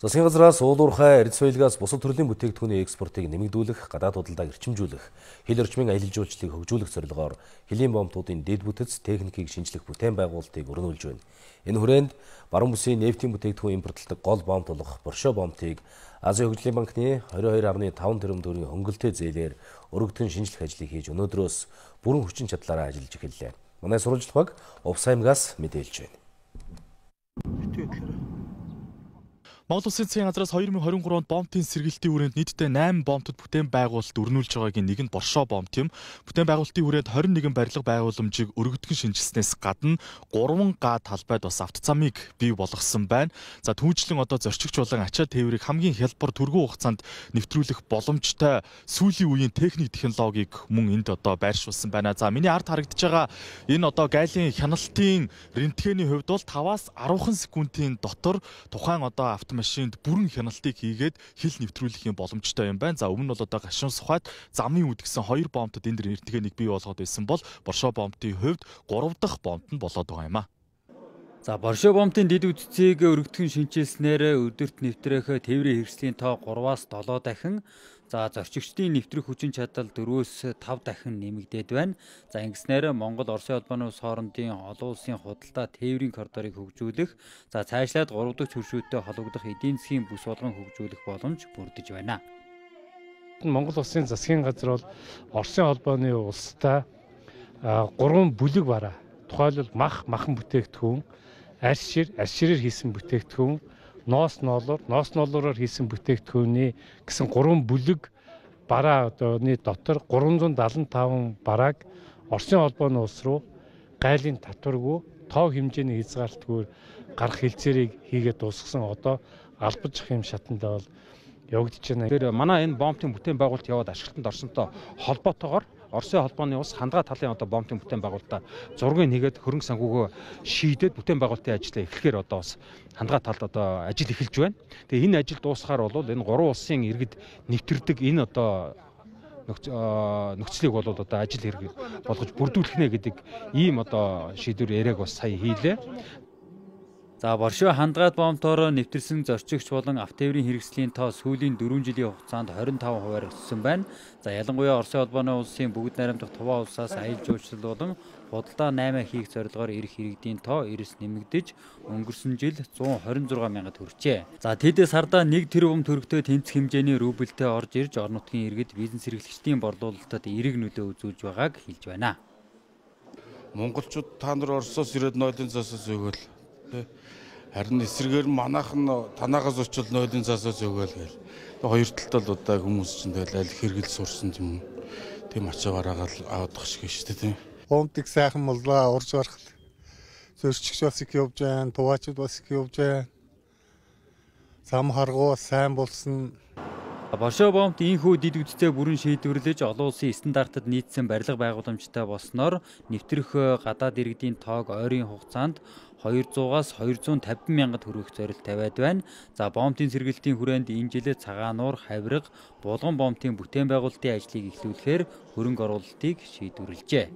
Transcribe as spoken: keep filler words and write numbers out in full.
Засгийн газраас уулуурхай эрдэс соёлгоос бусад төрлийн бүтээгдэхүүний экспортыг нэмэгдүүлэх, гадаад худалдааг эрчимжүүлэх, хил орчмын аялал жуулчлалыг хөгжүүлэх зорилгоор хөлийн бомтуудын дэд бүтэц техникийг шинжлэх бүтээн байгуулалтыг өргөнүүлж байна. Энэ хүрээнд баруун бүсийн нефтийн бүтээгдэхүүн импортлдог гол бомт болох Боршоо бомтыг Азийн хөгжлийн банкны двадцать two point five тэрбум төгрөгийн хөнгөлтэй зээлээр өргөдгөн шинжлэх ажлыг хийж өнөөдрөөс бүрэн хүчин чадлаараа ажиллаж эхэллээ. Манай сурвалжлах баг Увсаймгаас мэдээлж байна. Монгол Улсын засгийн газраас two thousand twenty-three онд бомтын сэргээлтийн хүрээнд нийтдээ nine бомтод бүтээн байгуулалт өрнүүлж байгаагийн нэг нь Боршоо бомт юм. Бүтээн байгуулалтын хүрээнд twenty-one барилга байгууламжийг өргөдгөн шинжилснээс гадна three га талбайд бас автозамыг бий болгосон байна. За түүнчлэн одоо зорчигч болон ачаа тээврийг хамгийн хялбар түргэн хугацаанд нэвтрүүлэх боломжтой сүүлийн үеийн техник технологиг мөн энд одоо байршуулсан байна. За миний ард харагдаж байгаа энэ одоо гайлын хяналтын рентгений хувьд бол five-аас ten секундын дотор тухайн одоо автомобиль машинд бүрэн хяналтыг хийгээд хил нэвтрүүлэх боломжтой юм байна. За өмнө нь бол одоо гашуун сухад замын үдгсэн хоёр бомтод энэ нэртэйг бий болгоод байсан бол Боршоо бомтын хувьд three дахь бомт нь болоод байгаа юм а. За Боршоо бомтын дэд үтцийг өргөдгөн шинжилснээр өдөрт нэвтрэх тээврийн хэрэгслийн тоо three-аас seven дахин, за зорчигчдын нэвтрэх хүчин чадал four-өөс five дахин нэмэгдээд байна. За ингэснээр Монгол Оросын холбооны улс хоорондын олон улсын худалдаа тээврийн коридорыг хөгжүүлэх, за цаашлаад three дахь хөршүүтэй холбогдох эдийн засгийн бүс болгон хөгжүүлэх боломж бүрдэж байна. Монгол Улсын засгийн газар бол Оросын холбооны улстай гурван бүлэг бараа. Тухайлбал мах, махан бүтээгдэхүүн, арьс шир, арьс ширээр хийсэн бүтээгдэхүүн, ноос ноолоор, ноос ноолороор хийсэн бүтээгдэхүүний гэсэн гурван бүлэг бараа одооны дотор three seventy-five барааг Оросын холбооны улс руу гайлын татваргүй тоо хэмжээний хязгаартгүй гарах хэлцээрийг хийгээд дуусгасан одоо албаж ах юм шатанда бол явагдаж байна. Тэр манай энэ бомтын бүтээн байгуулалт яваад ашиглалтанд орсонтой холбоотойгоор Оросын холбооны улс хандгаа талын одоо бомтын бүтээн байгуулалтаа зургийг нэгээд хөрөнгө санхүүгөө шийдээд бүтээн байгуулалтын ажлаа эхлэхээр одоо бас хандгаа талд одоо ажил эхэлж байна. Тэгээ энэ ажил дуусахаар бол энэ гурван улсын иргэд нэвтэрдэг энэ одоо нөхцөлийг бол одоо ажил хэрэг болгож бүрдүүлэх нэ гэдэг ийм одоо шийдвэр яриаг бас сая хийлээ. За Боршоо хандгаад бомтоор нэвтэрсэн зорчигч болон автотээврийн хэрэгслийн тоо сүүлийн four жилийн хугацаанд twenty-five хувиар өссөн байна. За ялангуяа Оросын холбооны улсын бүгд найрамдах Туваа улсаас аялал жуулчлал болон худалдаа nine хийх зорилгоор ирэх иргэдийн тоо эрс нэмэгдэж өнгөрсөн жил one twenty-six мянгад хүрчээ. За тэд сардаа one тэрбум төгрөгтэй тэнцэх хэмжээний рубльтэй орж ирж орон нутгийн иргэд бизнес эрхлэгчдийн борлуулалтад эерэг нөлөө үзүүлж байгааг хэлж байна. Монголчууд та нар Оросоос ирээд нойлын засаас өгөөл. Харин эсрэгээр манайхан танаагаас очил нойлын засаас өгөөл гээл. Хоёр талд л удаа хүмүүс чинь тэгэл аль хэрэгэл сурсан юм. Тийм ачаа бараагаал авах шиг шүү дээ. Бомтыг сайхан моллоо урж гарах. Зорчигч бас их явж байна, туваачд бас их явж байна. Зам харгуу сайн болсон. Боршоо бомт ийхүү дэд үдтэй бүрэн шийдвэрлэж олон улсын стандартад нийцсэн барилга байгууламжтай болсноор нэвтрэх гадаад иргэдийн тоог ойрын хугацаанд two hundred-аас two hundred fifty мянгад хүрэх зорилт тавиад байна. За бомтын сэргээлтийн хүрээнд энэ жилээ Цагаануур, Хавирга, Булган бомтын бүтээн байгуулалтын ажлыг эхлүүлэхээр хөрөнгө оруулалтыг шийдвэрлэжээ.